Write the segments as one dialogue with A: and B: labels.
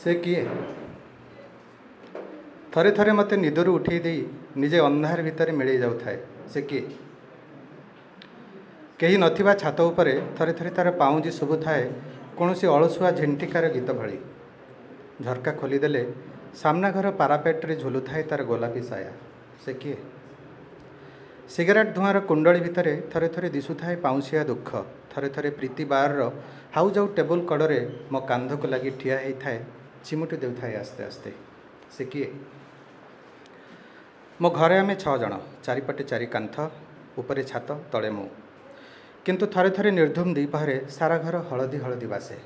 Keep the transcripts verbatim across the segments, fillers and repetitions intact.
A: ସେ କିଏ? ଥରେ ଥରେ ମୋତେ ନିଦରୁ ଉଠେଇ ଦେଇ ନିଜେ ଅନ୍ଧାର ଭିତରେ ମିଳେଇ ଯାଉଥାଏ। ସେ କିଏ? କେହି ନଥିବା ଛାତ ଉପରେ ଥରେ ଥରେ ତା'ର ପାଉଁଜି ଶୁଭୁଥାଏ କୌଣସି ଅଳସୁଆ ଝିଣ୍ଟିକାର ଗୀତ ଭଳି। ଝରକା ଖୋଲିଦେଲେ ସାମ୍ନା ଘର ପାରାପେଟରେ ଝୁଲୁଥାଏ ତା'ର ଗୋଲାପୀ ସାୟା। ସେ କିଏ? ସିଗାରେଟ୍ ଧୂଆଁର କୁଣ୍ଡଳୀ ଭିତରେ ଥରେ ଥରେ ଦିଶୁଥାଏ ପାଉଁଶିଆ ଦୁଃଖ। ଥରେ ଥରେ ପ୍ରୀତି ବାର୍ର ହାଉଯାଉ ଟେବୁଲ କଡ଼ରେ ମୋ କାନ୍ଧକୁ ଲାଗି ଠିଆ ହେଇଥାଏ, ଚିମୁଟି ଦେଉଥାଏ ଆସ୍ତେ ଆସ୍ତେ। ସେ କିଏ? ମୋ ଘରେ ଆମେ ଛଅ ଜଣ, ଚାରିପଟେ ଚାରି କାନ୍ଥ, ଉପରେ ଛାତ, ତଳେ ମୁଁ। କିନ୍ତୁ ଥରେ ଥରେ ନିର୍ଧୁମ ଦ୍ୱିପହରେ ସାରା ଘର ହଳଦୀ ହଳଦୀ ବାସେ,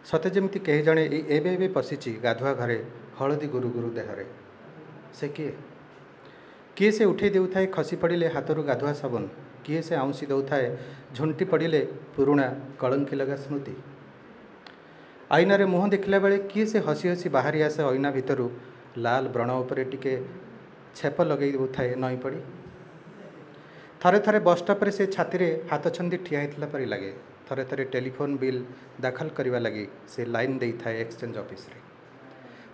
A: ସତେ ଯେମିତି କେହି ଜଣେ ଏଇ ଏବେ ଏବେ ପଶିଛି ଗାଧୁଆ ଘରେ ହଳଦୀ ଗୁରୁ ଗୁରୁ ଦେହରେ। ସେ କିଏ? କିଏ ସେ ଉଠେଇ ଦେଉଥାଏ ଖସି ପଡ଼ିଲେ ହାତରୁ ଗାଧୁଆ ସାବୁନ? କିଏ ସେ ଆଉଁସି ଦେଉଥାଏ ଝୁଣ୍ଟି ପଡ଼ିଲେ ପୁରୁଣା କଳଙ୍କି ଲଗା ସ୍ମୃତି? ଆଇନାରେ ମୁହଁ ଦେଖିଲା ବେଳେ କିଏ ସେ ହସି ହସି ବାହାରି ଆସେ ଅଇନା ଭିତରୁ, ଲାଲ ବ୍ରଣ ଉପରେ ଟିକେ ଛେପ ଲଗେଇ ଦେଉଥାଏ ନଇଁ ପଡ଼ି? ଥରେ ଥରେ ବସ୍ଷ୍ଟପ୍ରେ ସେ ଛାତିରେ ହାତ ଛନ୍ଦି ଠିଆ ହେଇଥିଲା ପରି ଲାଗେ। ଥରେ ଥରେ ଟେଲିଫୋନ୍ ବିଲ୍ ଦାଖଲ କରିବା ଲାଗି ସେ ଲାଇନ୍ ଦେଇଥାଏ ଏକ୍ସଚେଞ୍ଜ ଅଫିସରେ।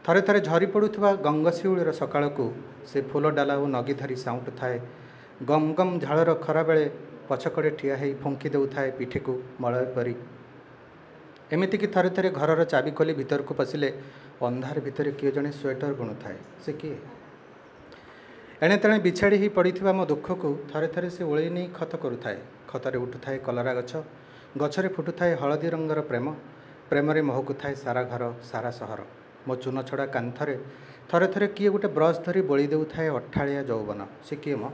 A: ଥରେ ଥରେ ଝରି ପଡ଼ୁଥିବା ଗଙ୍ଗଶିଉଳିର ସକାଳକୁ ସେ ଫୁଲ ଡାଲା ଓ ନଗି ଧରି ସାଉଁଟୁଥାଏ। ଗମ ଗମ ଝାଳର ଖରାବେଳେ ପଛକଡ଼େ ଠିଆ ହେଇ ଫୁଙ୍କି ଦେଉଥାଏ ପିଠିକୁ ମଳୟ ପରି। ଏମିତିକି ଥରେ ଥରେ ଘରର ଚାବି ଖୋଲି ଭିତରକୁ ପଶିଲେ ଅନ୍ଧାର ଭିତରେ କିଏ ଜଣେ ସ୍ୱେଟର ବୁଣୁଥାଏ। ସେ କିଏ? ଏଣେ ତେଣେ ବିଛାଡ଼ି ହେଇ ପଡ଼ିଥିବା ମୋ ଦୁଃଖକୁ ଥରେ ଥରେ ସେ ଓଳେଇ ନେଇ ଖତ କରୁଥାଏ। ଖତରେ ଉଠୁଥାଏ କଲରା ଗଛ, ଗଛରେ ଫୁଟୁଥାଏ ହଳଦୀ ରଙ୍ଗର ପ୍ରେମ, ପ୍ରେମରେ ମହକୁଥାଏ ସାରା ଘର, ସାରା ସହର। ମୋ ଚୂନ ଛଡ଼ା କାନ୍ଥରେ ଥରେ ଥରେ କିଏ ଗୋଟେ ବ୍ରସ୍ ଧରି ବୋଳି ଦେଉଥାଏ ଅଠାଳିଆ ଯୌବନ। ସେ କିଏ ମ?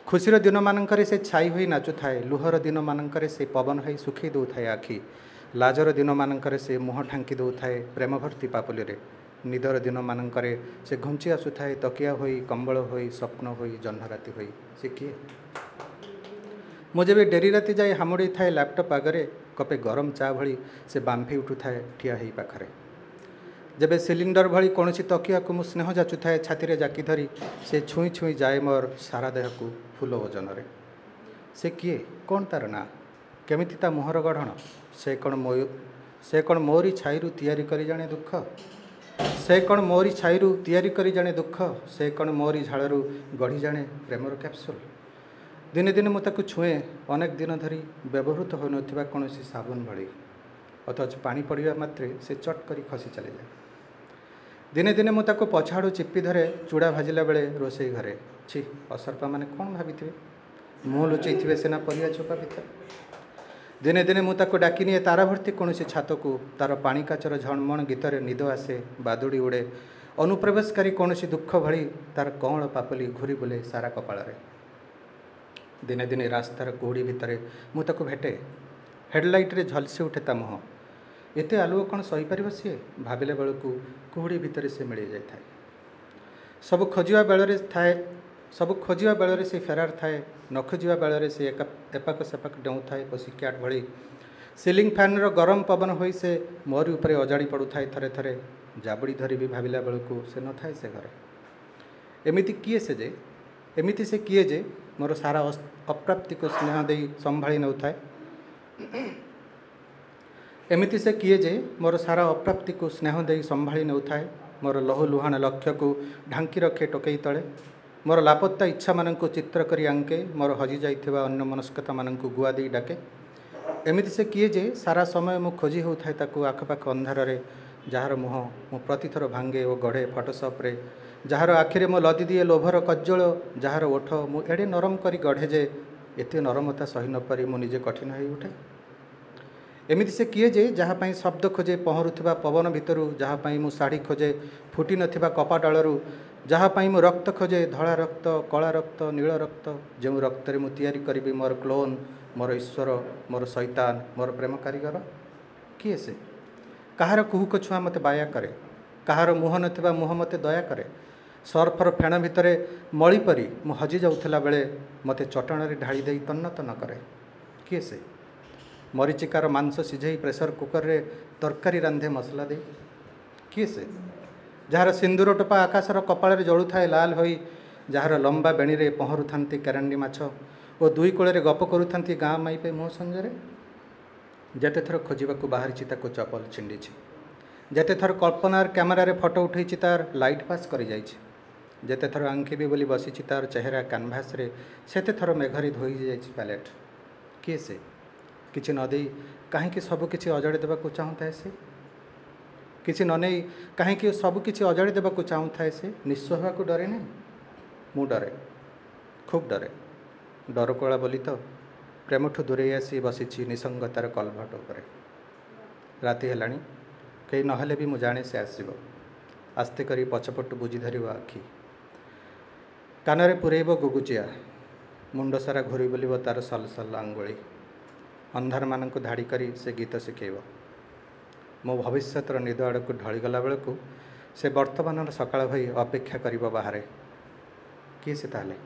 A: ଖୁସିର ଦିନମାନଙ୍କରେ ସେ ଛାଇ ହୋଇ ନାଚୁଥାଏ, ଲୁହର ଦିନମାନଙ୍କରେ ସେ ପବନ ହୋଇ ଶୁଖେଇ ଦେଉଥାଏ ଆଖି, ଲାଜର ଦିନମାନଙ୍କରେ ସେ ମୁହଁ ଢାଙ୍କି ଦେଉଥାଏ ପ୍ରେମ ଭର୍ତ୍ତି ପାପୁଲିରେ, ନିଦର ଦିନମାନଙ୍କରେ ସେ ଘୁଞ୍ଚି ଆସୁଥାଏ ତକିଆ ହୋଇ, କମ୍ବଳ ହୋଇ, ସ୍ୱପ୍ନ ହୋଇ, ଜହ୍ନରାତି ହୋଇ। ସେ କିଏ? ମୁଁ ଯେବେ ଡେରି ରାତି ଯାଇ ହାମୁଡ଼େଇ ଥାଏ ଲ୍ୟାପଟପ୍ ଆଗରେ, କପେ ଗରମ ଚା ଭଳି ସେ ବାମ୍ଫି ଉଠୁଥାଏ ଠିଆ ହେଇ ପାଖରେ। ଯେବେ ସିଲିଣ୍ଡର ଭଳି କୌଣସି ତକିଆକୁ ମୁଁ ସ୍ନେହ ଯାଚୁଥାଏ ଛାତିରେ ଜାକି ଧରି, ସେ ଛୁଇଁ ଛୁଇଁ ଯାଏ ମୋର ସାରା ଦେହକୁ ଫୁଲ ଓଜନରେ। ସେ କିଏ? କ'ଣ ତା'ର ନାଁ? କେମିତି ତା ମୁହଁର ଗଢ଼ଣ? ସେ କ'ଣ ମୋ ସେ କ'ଣ ମୋରି ଛାଇରୁ ତିଆରି କରି ଜାଣେ ଦୁଃଖ? ସେ କ'ଣ ମୋରି ଛାଇରୁ ତିଆରି କରି ଜାଣେ ଦୁଃଖ? ସେ କ'ଣ ମୋରି ଝାଳରୁ ଗଢ଼ି ଜାଣେ ପ୍ରେମର କ୍ୟାପସୁଲ୍? ଦିନେ ଦିନେ ମୁଁ ତାକୁ ଛୁଏଁ ଅନେକ ଦିନ ଧରି ବ୍ୟବହୃତ ହୋଇନଥିବା କୌଣସି ସାବୁନ ଭଳି, ଅଥଚ ପାଣି ପଡ଼ିବା ମାତ୍ରେ ସେ ଚଟ୍ କରି ଖସି ଚାଲିଯାଏ। ଦିନେ ଦିନେ ମୁଁ ତାକୁ ପଛଆଡ଼ୁ ଚିପି ଧରେ ଚୂଡ଼ା ଭାଜିଲା ବେଳେ ରୋଷେଇ ଘରେ। ଛି, ଅସରପାମାନେ କ'ଣ ଭାବିଥିବେ? ମୁହଁ ଲୁଚେଇଥିବେ ସିନା ପରିବା ଚୋପା ଭିତରେ। ଦିନେ ଦିନେ ମୁଁ ତାକୁ ଡାକି ନିଏ ତାରା ଭର୍ତ୍ତି କୌଣସି ଛାତକୁ। ତା'ର ପାଣି କାଚର ଝଣମଣ ଗୀତରେ ନିଦ ଆସେ, ବାଦୁଡ଼ି ଉଡ଼େ। ଅନୁପ୍ରବେଶକାରୀ କୌଣସି ଦୁଃଖ ଭଳି ତା'ର କଅଁଳ ପାପୁଲି ଘୁରି ବୁଲେ ସାରା କପାଳରେ। ଦିନେ ଦିନେ ରାସ୍ତାର କୁହୁଡ଼ି ଭିତରେ ମୁଁ ତାକୁ ଭେଟେ। ହେଡ଼ଲାଇଟ୍ରେ ଝଲସି ଉଠେ ତା ମୁହଁ। ଏତେ ଆଲୁଅ କ'ଣ ସହିପାରିବ ସିଏ? ଭାବିଲା ବେଳକୁ କୁହୁଡ଼ି ଭିତରେ ସେ ମିଳେଇ ଯାଇଥାଏ। ସବୁ ଖୋଜିବା ବେଳରେ ଥାଏ ସବୁ ଖୋଜିବା ବେଳରେ ସେ ଫେରାର ଥାଏ, ନ ଖୋଜିବା ବେଳରେ ସେ ଏକା ଏପାଖ ସେପାଖ ଡେଉଁଥାଏ ପଶି କ୍ୟାଟ୍ ଭଳି। ସିଲିଂ ଫ୍ୟାନ୍ର ଗରମ ପବନ ହୋଇ ସେ ମୋରି ଉପରେ ଅଜାଡ଼ି ପଡ଼ୁଥାଏ ଥରେ ଥରେ। ଜାବୁଡ଼ି ଧରି ବି ଭାବିଲା ବେଳକୁ ସେ ନଥାଏ ସେ ଘରେ। ଏମିତି କିଏ ସେ ଯେ ଏମିତି ସେ କିଏ ଯେ ମୋର ସାରା ଅପ୍ରାପ୍ତିକୁ ସ୍ନେହ ଦେଇ ସମ୍ଭାଳି ନେଉଥାଏ? ଏମିତି ସେ କିଏ ଯେ ମୋର ସାରା ଅପ୍ରାପ୍ତିକୁ ସ୍ନେହ ଦେଇ ସମ୍ଭାଳି ନେଉଥାଏ? ମୋର ଲହୁ ଲୁହାଣ ଲକ୍ଷ୍ୟକୁ ଢାଙ୍କି ରଖେ ଟୋକେଇ ତଳେ, ମୋର ଲାପତ୍ତା ଇଚ୍ଛାମାନଙ୍କୁ ଚିତ୍ର କରି ଆଙ୍କେ, ମୋର ହଜିଯାଇଥିବା ଅନ୍ୟମନସ୍କତାମାନଙ୍କୁ ଗୁଆ ଦେଇ ଡାକେ। ଏମିତି ସେ କିଏ ଯେ ସାରା ସମୟ ମୁଁ ଖୋଜି ହେଉଥାଏ ତାକୁ ଆଖପାଖ ଅନ୍ଧାରରେ, ଯାହାର ମୁହଁ ମୁଁ ପ୍ରତିଥର ଭାଙ୍ଗେ ଓ ଗଢ଼େ ଫଟୋସପ୍ରେ, ଯାହାର ଆଖିରେ ମୁଁ ଲଦି ଦିଏ ଲୋଭର କଜ୍ଜଳ, ଯାହାର ଓଠ ମୁଁ ଏଡ଼େ ନରମ କରି ଗଢ଼େ ଯେ ଏତେ ନରମତା ସହି ନପାରି ମୁଁ ନିଜେ କଠିନ ହୋଇ ଉଠେ। ଏମିତି ସେ କିଏ ଯେ ଯାହା ପାଇଁ ଶବ୍ଦ ଖୋଜେ ପହଁରୁଥିବା ପବନ ଭିତରୁ, ଯାହା ପାଇଁ ମୁଁ ଶାଢ଼ୀ ଖୋଜେ ଫୁଟି ନଥିବା କପା ଡାଳରୁ, ଯାହା ପାଇଁ ମୁଁ ରକ୍ତ ଖୋଜେ ଧଳା ରକ୍ତ, କଳା ରକ୍ତ, ନୀଳ ରକ୍ତ, ଯେଉଁ ରକ୍ତରେ ମୁଁ ତିଆରି କରିବି ମୋର କ୍ଲୋନ୍, ମୋର ଈଶ୍ୱର, ମୋର ଶୈତାନ, ମୋର ପ୍ରେମ କାରିଗର। କିଏ ସେ? କାହାର କୁହୁକ ଛୁଆଁ ମୋତେ ବାୟା କରେ? କାହାର ମୁହଁ ନଥିବା ମୁହଁ ମୋତେ ଦୟା କରେ? ସର୍ଫର ଫେଣ ଭିତରେ ମଳି ପରି ମୁଁ ହଜି ଯାଉଥିଲା ବେଳେ ମୋତେ ଚଟାଣରେ ଢାଳି ଦେଇ ତନ୍ନ ତନ୍ନ କରେ। କିଏ ସେ? ମରିଚିକାର ମାଂସ ସିଝେଇ ପ୍ରେସର କୁକରରେ ତରକାରୀ ରାନ୍ଧେ ମସଲା ଦେଇ। କିଏ ସେ? ଯାହାର ସିନ୍ଦୁର ଟୋପା ଆକାଶର କପାଳରେ ଜଳୁଥାଏ ଲାଲ ହୋଇ, ଯାହାର ଲମ୍ବା ବେଣୀରେ ପହଁରୁଥାନ୍ତି କେରାଣ୍ଡି ମାଛ ଓ ଦୁଇ କୂଳରେ ଗପ କରୁଥାନ୍ତି ଗାଁ ମାଇପେ ମୁହଁ ସଞ୍ଜରେ। ଯେତେଥର ଖୋଜିବାକୁ ବାହାରିଛି ତାକୁ ଚପଲ ଛିଣ୍ଡିଛି, ଯେତେଥର କଳ୍ପନାର କ୍ୟାମେରାରେ ଫଟୋ ଉଠେଇଛି ତାର ଲାଇଟ୍ ପାସ୍ କରିଯାଇଛି। ଯେତେଥର ଆଙ୍କିବି ବୋଲି ବସିଛି ତାର ଚେହେରା କାନଭାସରେ, ସେତେଥର ମେଘରେ ଧୋଇ ଯାଇଛି ପ୍ୟାଲେଟ୍। କିଏ ସେ? କିଛି ନ ଦେଇ କାହିଁକି ସବୁକିଛି ଅଜାଡ଼ି ଦେବାକୁ ଚାହୁଁଥାଏ ସେ? କିଛି ନ ନେଇ କାହିଁକି ସବୁକିଛି ଅଜାଡ଼ି ଦେବାକୁ ଚାହୁଁଥାଏ ସେ? ନିଃସ୍ୱ ହେବାକୁ ଡରେ ନାହିଁ? ମୁଁ ଡରେ, ଖୁବ୍ ଡରେ। ଡରକୁଳା ବୋଲି ତ ପ୍ରେମଠୁ ଦୂରେଇ ଆସି ବସିଛି ନିସଙ୍ଗତାର କଲଭଟ ଉପରେ। ରାତି ହେଲାଣି, କେହି ନହେଲେ ବି ମୁଁ ଜାଣେ ସେ ଆସିବ। ଆସ୍ତେ କରି ପଛପଟୁ ବୁଜି ଧରିବ ଆଖି, କାନରେ ପୂରେଇବ ଗୁଗୁଚିଆ, ମୁଣ୍ଡ ସାରା ଘୂରି ବୁଲିବ ତାର ସଲସଲ ଆଙ୍ଗୁଳି। ଅନ୍ଧାରମାନଙ୍କୁ ଧାଡ଼ି କରି ସେ ଗୀତ ଶିଖେଇବ। ମୋ ଭବିଷ୍ୟତର ନିଦ ଆଡ଼କୁ ଢଳିଗଲା ବେଳକୁ ସେ ବର୍ତ୍ତମାନର ସକାଳ ହୋଇ ଅପେକ୍ଷା କରିବ ବାହାରେ। କିଏ ସେ ତାହେଲେ?